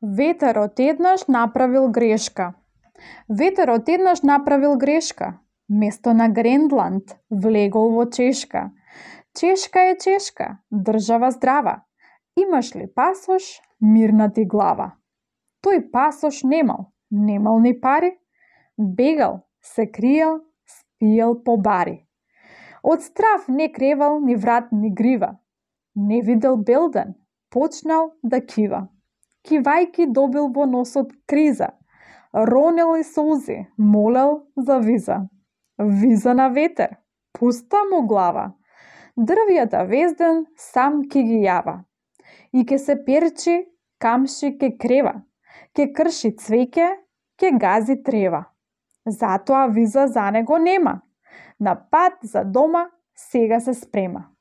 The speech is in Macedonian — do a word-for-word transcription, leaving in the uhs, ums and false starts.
Ветерот еднаш направил грешка. Ветерот еднаш направил грешка. Место на Гренланд влегол во Чешка. Чешка е Чешка, држава здрава. Имаш ли пасош, мирна ти глава. Тој пасош немал, немал ни пари. Бегал, се криел, спиел по бари. Од страв не кревал ни врат ни грива. Не видел Белден, почнал да кива. Кивајки добил во носот криза. Ронел и солзи, молел за виза. Виза на ветер, пуста му глава. Дрвјата везден сам ки ги јава. И ке се перчи, камши ке крева. Ке крши цвеќе, ке гази трева. Затоа виза за него нема. На пат за дома сега се спрема.